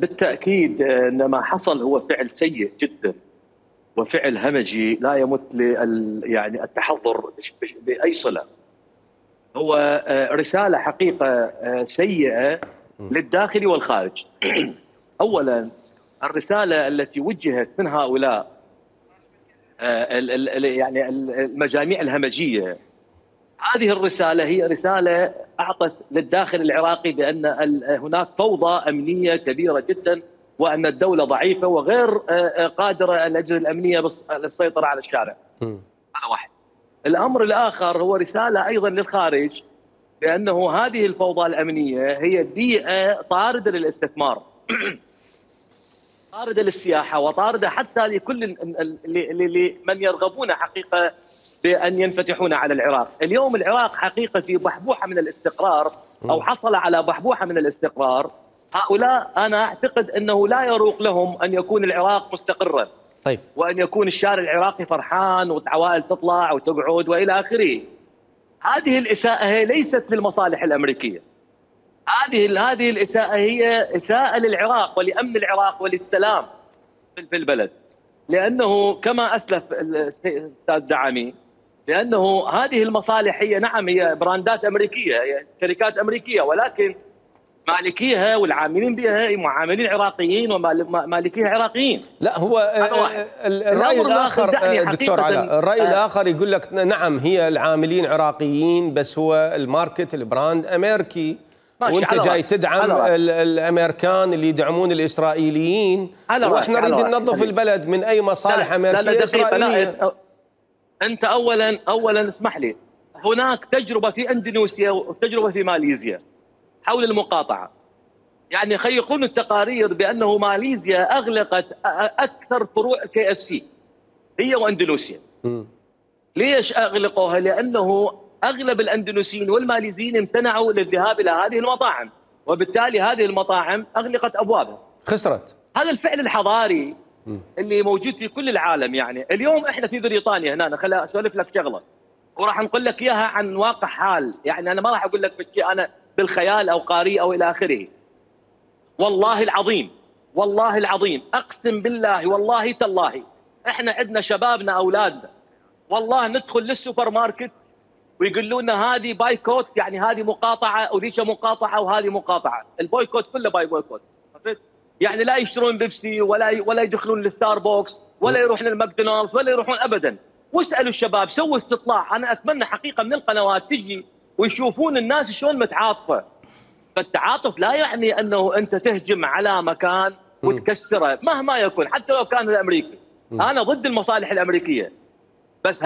بالتأكيد أن ما حصل هو فعل سيء جدا وفعل همجي لا يمت يعني التحضر بأي صلة. هو رسالة حقيقة سيئة للداخل والخارج. أولا الرسالة التي وجهت من هؤلاء يعني المجاميع الهمجية، هذه الرسالة هي رسالة أعطت للداخل العراقي بأن هناك فوضى أمنية كبيرة جدا، وأن الدولة ضعيفة وغير قادرة الأجهزة الأمنية للسيطرة على الشارع. هذا واحد. الأمر الآخر هو رسالة أيضا للخارج بأنه هذه الفوضى الأمنية هي بيئة طاردة للاستثمار، طاردة للسياحة، وطاردة حتى لكل من يرغبون حقيقة بأن ينفتحون على العراق. اليوم العراق حقيقة في بحبوحة من الاستقرار، أو حصل على بحبوحة من الاستقرار. هؤلاء أنا أعتقد أنه لا يروق لهم أن يكون العراق مستقرا، طيب، وأن يكون الشارع العراقي فرحان وعوائل تطلع وتقعد وإلى آخره. هذه الإساءة ليست للمصالح الأمريكية، هذه الإساءة هي إساءة للعراق ولأمن العراق وللسلام في البلد. لأنه كما أسلف الأستاذ دعامي، لأنه هذه المصالح هي نعم هي براندات أمريكية، هي شركات أمريكية، ولكن مالكيها والعاملين بها معاملين عراقيين ومالكيها عراقيين. لا، هو الرأي الآخر دكتور علاء، الرأي الآخر يقول لك نعم هي العاملين عراقيين بس هو الماركت البراند أمريكي، وانت جاي تدعم الامريكان اللي يدعمون الاسرائيليين، واحنا نريد ننظف البلد من اي مصالح امريكيه اسرائيليه. انت اولا اسمح لي، هناك تجربه في اندونيسيا وتجربه في ماليزيا حول المقاطعه. يعني يقولون التقارير بانه ماليزيا اغلقت اكثر فروع KFC هي واندونيسيا. ليش اغلقوها؟ لانه اغلب الاندونيسيين والماليزيين امتنعوا للذهاب الى هذه المطاعم، وبالتالي هذه المطاعم اغلقت ابوابها، خسرت. هذا الفعل الحضاري اللي موجود في كل العالم. يعني اليوم احنا في بريطانيا هنا، خليني اسولف لك شغله وراح نقول لك اياها عن واقع حال. يعني انا ما راح اقول لك بشيء انا بالخيال او قارئ او الى اخره. والله العظيم، والله العظيم، اقسم بالله والله تالله، احنا عندنا شبابنا اولادنا والله ندخل للسوبر ماركت ويقولوا لنا هذه بايكوت، يعني هذه مقاطعه وذيك مقاطعه وهذه مقاطعه. البويكوت كله بايكوت، يعني لا يشترون بيبسي ولا يدخلون الستاربوكس ولا يروحون الماكدونالدز ولا يروحون ابدا. واسالوا الشباب، سووا استطلاع. انا اتمنى حقيقه من القنوات تجي ويشوفون الناس شلون متعاطفه. فالتعاطف لا يعني انه انت تهجم على مكان وتكسره مهما يكون، حتى لو كان الامريكي. انا ضد المصالح الامريكيه، بس